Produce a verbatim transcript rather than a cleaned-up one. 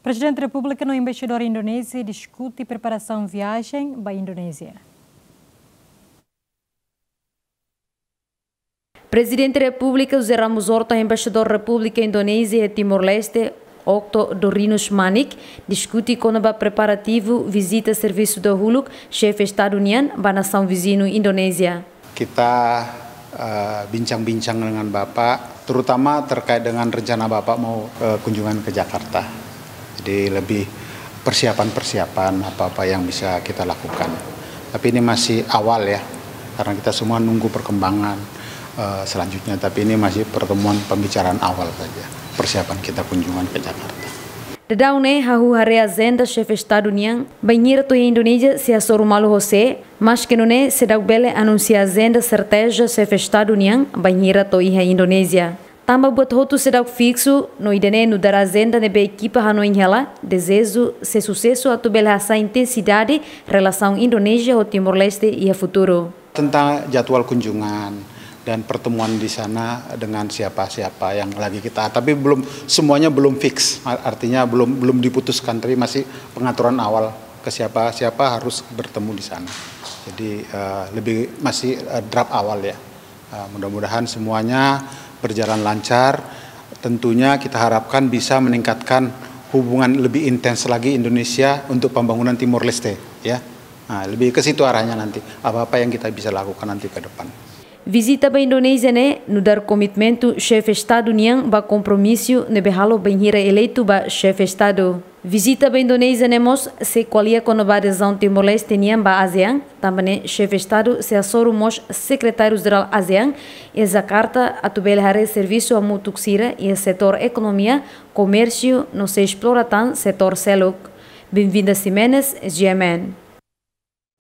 Prezidente Repúblika no Embaixadór Indonézia diskute preparasaun viajen ba Indonézia. Prezidente Repúblika José Ramos Horta, Embaixadór Repúblika Indonézia iha Timor-Leste, Okto Dorinus Manik, diskute kona-ba preparativu vizita servisu dahuluk Xefe Estadu nian ba nasaun viziñu Indonézia. Kita, eh, bincang-bincang dengan Bapak, terutama terkait dengan rencana Bapak mau, eh, kunjungan ke Jakarta. Jadi lebih persiapan-persiapan apa-apa yang bisa kita lakukan. Tapi ini masih awal ya, karena kita semua nunggu perkembangan, eh, selanjutnya. Tapi ini masih pertemuan pembicaraan awal saja, persiapan kita kunjungan ke Jakarta. Daudaun ne'e hahú haree ajenda Xefe Estadu nian bainhira to'o iha Indonézia sei hasoru malu ho sé, maske nune'e seidauk bele anunsia ajenda serteza Xefe Estadu nian bainhira to'o iha Indonézia. Tanba buat hotu seidauk fiksu, no ida-ne'e nu'udar ajenda ne'ebé ekipa hanoin hela, dezeju sei susesu atu bele hasa'e intensidade relasaun Indonézia ho Timor-Leste iha futuru. Tentang jadwal kunjungan dan pertemuan di sana dengan siapa-siapa yang lagi kita, tapi belum, semuanya belum fix, artinya belum, belum diputuskan, tapi masih pengaturan awal ke siapa-siapa harus bertemu di sana. Jadi, eh, lebih masih, eh, draft awal ya. Eh, mudah-mudahan semuanya berjalan lancar. Tentunya kita harapkan bisa meningkatkan hubungan lebih intens lagi Indonesia untuk pembangunan Timor Leste, ya. Nah, lebih ke situ arahnya nanti. Apa-apa yang kita bisa lakukan nanti ke depan. Vizita ba Indonézia ne'e nu'udar komitmentu Xefe Estadu nian ba kompromisu ne'ebé halo bainhira eleitu ba Xefe Estadu. Vizita ba Indonézia ne'e mós sei ko'alia kona-ba adezaun Timor-Leste nian ba ASEAN, tanba ne'e Xefe Estadu sei hasoru mós Sekretáriu Jerál ASEAN iha Jakarta atu bele haree servisu hamutuk sira iha setór ekonomia, komérsiu no sei esplora tan setór seluk. Benvinda Ximenes, G M N.